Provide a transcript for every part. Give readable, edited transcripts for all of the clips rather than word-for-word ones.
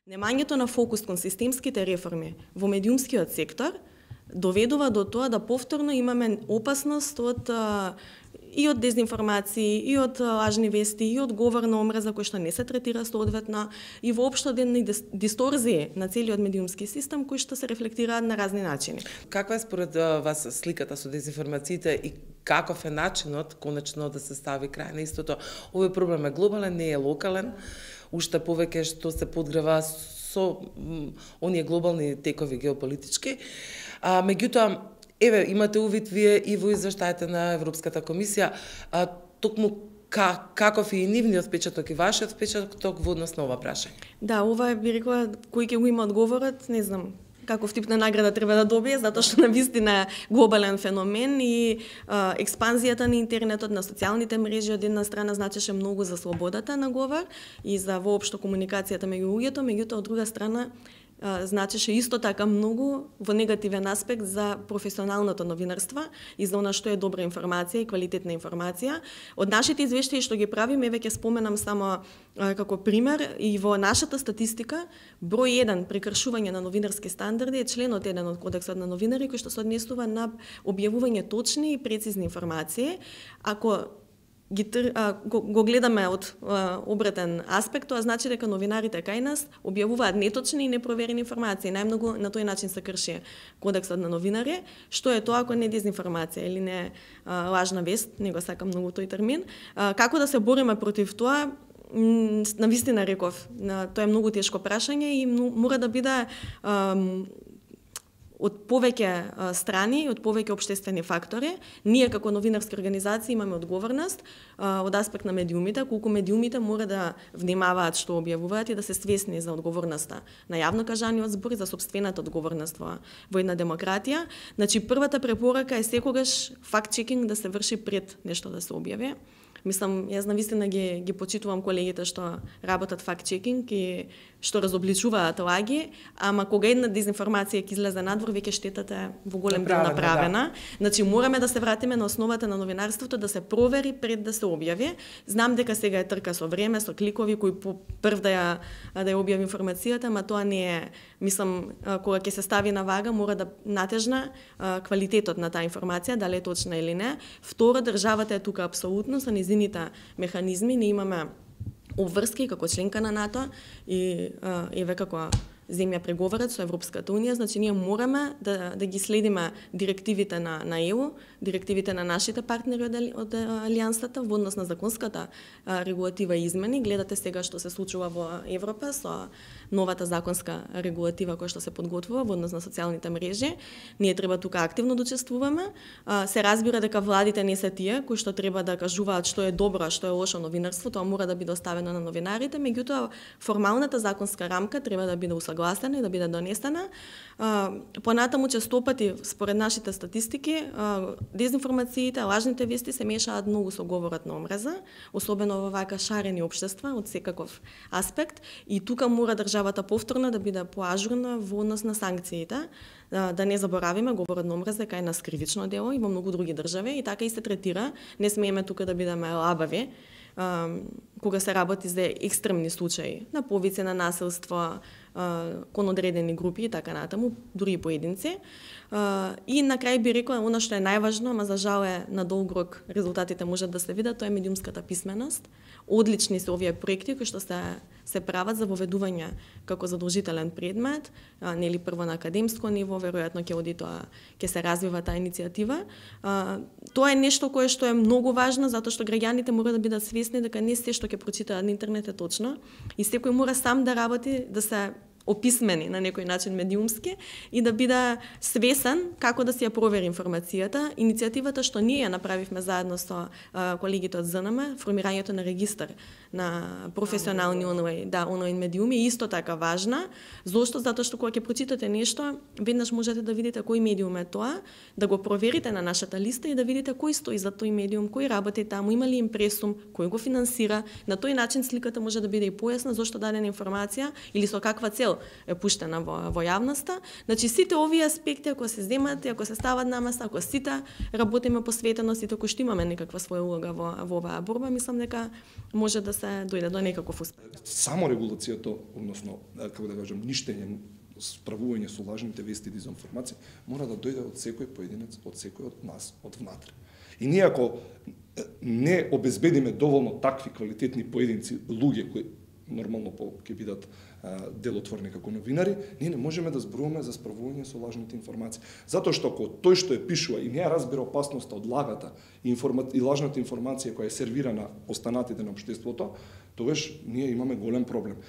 Немањето на фокус кон системските реформи во медиумскиот сектор доведува до тоа да повторно имаме опасност и од дезинформации, и од лажни вести, и од говор на омраза кој што не се третира соодветно, и воопшто едни дисторзии на целиот медиумски систем кои што се рефлектираат на разни начини. Каква е според вас сликата со дезинформациите и каков е начинот конечно да се стави крај на истото? Овој проблем е глобален, не е локален, уште повеќе што се подгрева со оние глобални текови геополитички. Меѓутоа, еве, имате увид вие и во извештаите на Европската комисија, токму каков е и нивниот впечаток и вашиот впечаток во однос на ова прашање? Да, ова би рекла, кој ќе го има одговорот, не знам каков тип на награда треба да добие, затоа што навистина глобален феномен и експанзијата на интернетот, на социјалните мрежи од една страна значеше многу за слободата на говор и за воопшто комуникацијата меѓу луѓето, меѓутоа од друга страна значеше исто така многу во негативен аспект за професионалното новинарство и за она што е добра информација и квалитетна информација. Од нашите извештаи што ги правиме, еве ќе споменам само како пример, и во нашата статистика број 1 прекршување на новинарски стандарди е членот 1 од Кодексот на новинари кој што се однесува на објавување точни и прецизни информации. Ако го гледаме од обратен аспект, тоа значи дека новинарите кај нас објавуваат неточни и непроверени информации. Најмногу на тој начин се крши Кодексот на новинари. Што е тоа ако не дезинформација или не лажна вест, не го сакам многу тој термин. Како да се бориме против тоа? Навистина реков, тоа е многу тешко прашање и мора да биде од повеќе страни, од повеќе општествени фактори. Ние како новинарски организации имаме одговорност од аспект на медиумите, колку медиумите мора да внимаваат што објавуваат и да се свесни за одговорноста на јавно кажаниот збор и за сопствената одговорност во една демократија. Значи, првата препорака е секогаш факт-чекинг да се врши пред нешто да се објави. Мислам, јас навистина ги почитувам колегите што работат факт-чекинг и што разобличуваат лаги, ама кога една дезинформација ќе излезе надвор, веќе штетата е во голем дел направена. Да. Значи, мораме да се вратиме на основата на новинарството, да се провери пред да се објави. Знам дека сега е трка со време, со кликови, кој прв да ја објави информацијата, ама тоа не е, мислам, кога ќе се стави на вага, мора да натежна квалитетот на таа информација, дали е точна или не. Второ, државата е тука апсолутно со низините механизми, не имаме обврски како членка на НАТО и еве како земја преговарат со Европската унија, значи ние мораме да ги следиме директивите на ЕУ, директивите на нашите партнери од Алијансата во однос на законската регулатива и измени. Гледате сега што се случува во Европа со новата законска регулатива која што се подготвува во однос на социјалните мрежи. Ние треба тука активно да учествуваме. Се разбира дека владите не се тие кои што треба да кажуваат што е добро, а што е лошо новинарство, тоа мора да биде оставено на новинарите, меѓутоа формалната законска рамка треба да биде гласена и да биде донесена. Понатаму честопати, според нашите статистики, дезинформациите, лажните вести се мешаат многу со говорот на омраза, особено во вака шарени општества од секаков аспект, и тука мора државата повторно да биде поажурна во однос на санкциите. Да не заборавиме, говорот на омраза е нас кривично дело и во многу други држави и така и се третира. Не смееме тука да бидеме лабави кога се работи за екстремни случаи на повици на насилство кон одредени групи и така натаму, дури и поединци. И на крај би рекла, она што е најважно, ама за жал е на долг рок резултатите можат да се видат, тоа е медиумската писменост. Одлични се овие проекти кои што се прават за воведување како задолжителен предмет, нели прво на академско ниво, веројатно ќе се развива таа иницијатива. Тоа е нешто кое што е многу важно, затоа што граѓаните мора да бидат свесни дека не се што ќе прочитаат на интернет е точно и секој мора сам да работи, да се описмени на некој начин медиумски и да биде свесен како да си ја провери информацијата. Иницијативата што ние ја направивме заедно со колегите од ЗНМ, формирањето на регистар на професионални онлайн медиуми е исто така важна. Зошто? Затоа што кога ќе прочитате нешто, веднаш можете да видите кој медиум е тоа, да го проверите на нашата листа и да видите кој стои за тој медиум, кој работи таму, има ли импресум, кој го финансира. На тој начин сликата може да биде и појасна зошто дадена информација или со каква цел е пуштена во јавноста. Значи сите овие аспекти ако се земат, ако се стават на маса, ако сите работиме посветено, сите кои што имаме некаква своја улога во оваа борба, мислам дека може да се дојде до некаков успех. Само регулацијата, односно како да кажам, ништење, справување со лажните вести и дезинформации мора да дојде од секој поединец, од секој од нас, од внатре. И ние ако не обезбедиме доволно такви квалитетни поединци, луѓе кои нормално ќе бидат делотворни како новинари, ние не можеме да зборуваме за справување со лажните информации. Затоа што ако тој што е пишува и не ја разбира опасноста од лагата и лажната информација која е сервирана останатите на општеството, тогаш ние имаме голем проблем.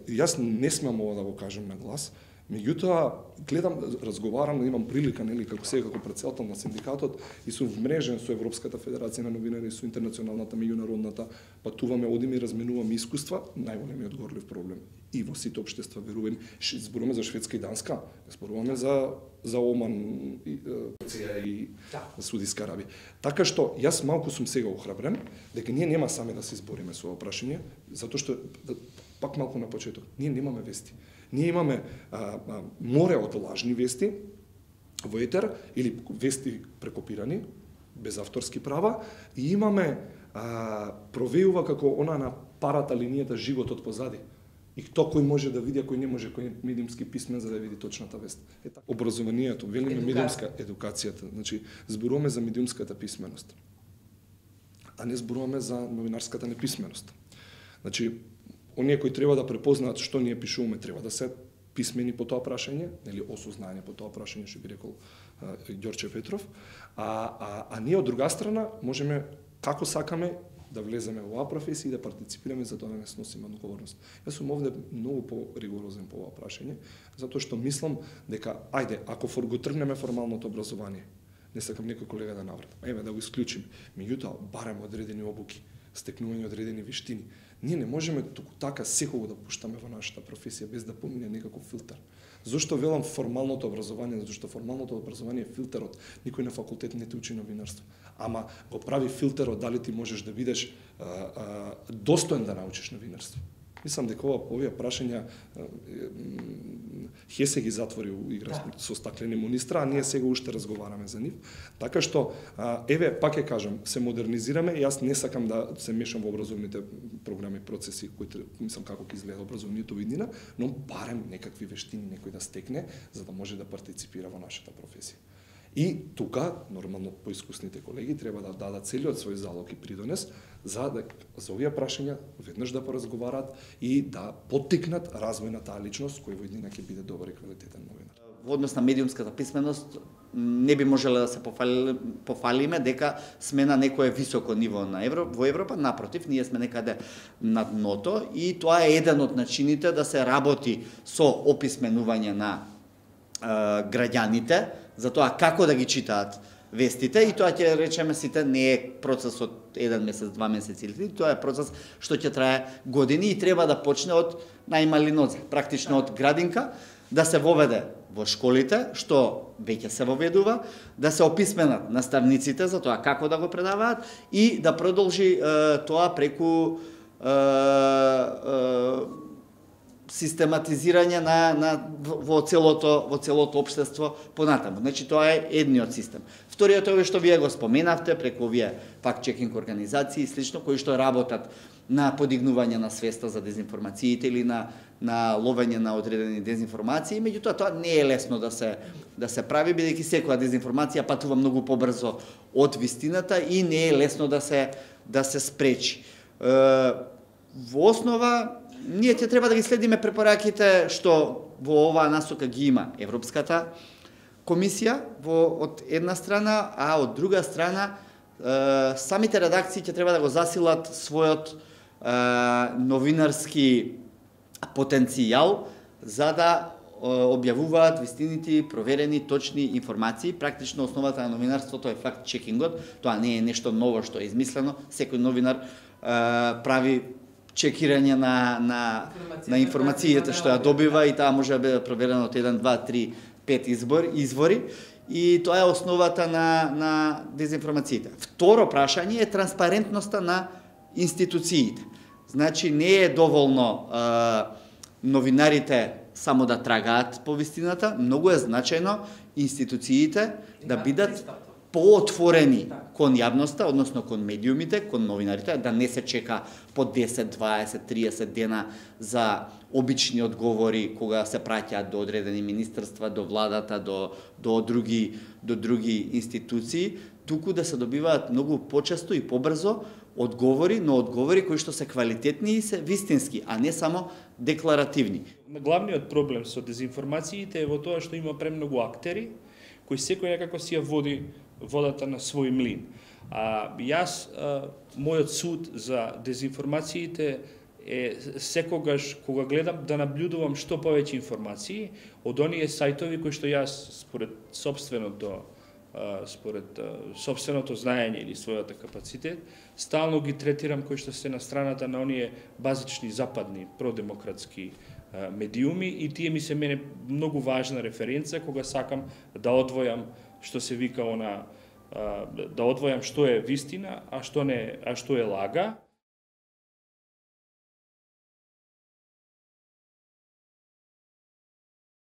Јас не смеам ова да го кажам на глас, меѓутоа гледам, разговарам, имам прилика, нели, како сега како претседател на синдикатот и сум вмрежен со Европската федерација на новинари, со интернационалната, меѓународната, патуваме, одиме и разменуваме искуства, најголемиот горлив проблем и во сите општества верувани. Зборуваме за Шведска и Данска, зборуваме за Оман и Судиска Арабија. Така што јас малку сум сега охрабрен дека ние нема сами да се избориме со ова прашање, затоа што пак малку на почеток, ние немаме вести. Ние имаме море од лажни вести во етер или вести прекопирани без авторски права и имаме провејува како она на парата линијата животот позади. И кто кој може да види, а кој не може, кој е медиумски писмен за да види точната вест. Образованието, велиме медиумска едукацијата, значи зборуваме за медиумската писменост, а не зборуваме за новинарската неписменост. Значи, оние кои треба да препознаат што ние пишуваме, треба да се писмени по тоа прашање, нели осознање по тоа прашање, што би рекол Ѓорче Петров, а ние од друга страна можеме како сакаме да влеземе во оваа професија и да партиципираме за тоа да не сносиме одговорност. Јас сум овде многу поригорозен по оваа прашање, затоа што мислам дека ајде, ако го тргнеме формалното образование, не сакам некој колега да наврати, еве да го исклучиме, меѓутоа барем одредени обуки, стекнување одредени вештини. Ние не можеме туку така секого да пуштаме во нашата професија без да помине некаков филтер. Зошто велам формалното образование? Затоа што формалното образование е филтерот. Никој на факултет не те учи новинарство. Ама го прави филтерот дали ти можеш да бидеш достоен да научиш новинарство. Мислам дека овие прашања Хесе ги затвори игра со стаклени монистра, а ние сега уште разговараме за нив. Така што, еве, пак ќе кажам, се модернизираме, јас не сакам да се мешам во образовните програми, процеси, кои мислам како ќе изгледа образовнието во иднина, но барем некакви вештини некој да стекне, за да може да партиципира во нашата професија. И тука, нормално поискусните колеги, треба да дадат целиот свој залог и придонес за овие прашања веднаш да поразговараат и да поттикнат развој на таа личност кој во иднина ќе биде добар и квалитетен новинар. Во однос на медиумската писменост не би можеле да се пофалиме дека сме на некое високо ниво во Европа, напротив, ние сме некаде над дното и тоа е еден од начините да се работи со описменување на граѓаните, за тоа како да ги читаат вестите и тоа ќе речеме сите не е процес од 1 месец, 2 месеци или 3, тоа е процес што ќе трае години и треба да почне од најмали нозе, практично од градинка, да се воведе во школите, што веќе се воведува, да се описменат наставниците за тоа како да го предаваат и да продолжи тоа преку систематизирање во целото општество понатаму. Значи тоа е едниот систем. Вториот е овој што вие го споменавте преку овие факт-чекинг организации и слично кои што работат на подигнување на свеста за дезинформациите или на ловење на одредени дезинформации, меѓутоа тоа не е лесно да се прави бидејќи секоја дезинформација патува многу побрзо од вистината и не е лесно да се спречи. Во основа ние ќе треба да ги следиме препораките што во оваа насока ги има Европската комисија од една страна, а од друга страна самите редакции ќе треба да го засилат својот новинарски потенцијал за да објавуваат вистините, проверени, точни информации. Практично основата на новинарството е факт-чекингот. Тоа не е нешто ново што е измислено. Секој новинар прави чекирање на информацијата што ја добива и таа може да биде проверена од 1, 2, 3, 5 извори и тоа е основата на дезинформациите. Второ прашање е транспарентноста на институциите. Значи не е доволно новинарите само да трагаат по вистината, многу е значајно институциите да бидат поотворени кон јавноста, односно кон медиумите, кон новинарите, да не се чека по 10, 20, 30 дена за обични одговори кога се праќаат до одредени министерства, до владата, до други институции, туку да се добиваат многу почесто и побрзо одговори, но одговори кои што се квалитетни и се вистински, а не само декларативни. Главниот проблем со дезинформациите е во тоа што има премногу актери кои секој некако си ја води водата на свој млин. Мојот суд за дезинформациите е секогаш кога гледам да наблюдувам што повеќе информации од оние сајтови кои што јас според сопственото знаење или својата капацитет, стално ги третирам кои што се на страната на оние базични западни продемократски медиуми и тие ми се мене многу важна референца кога сакам да одвојам што се вика да одвојам што е вистина, а што е лага.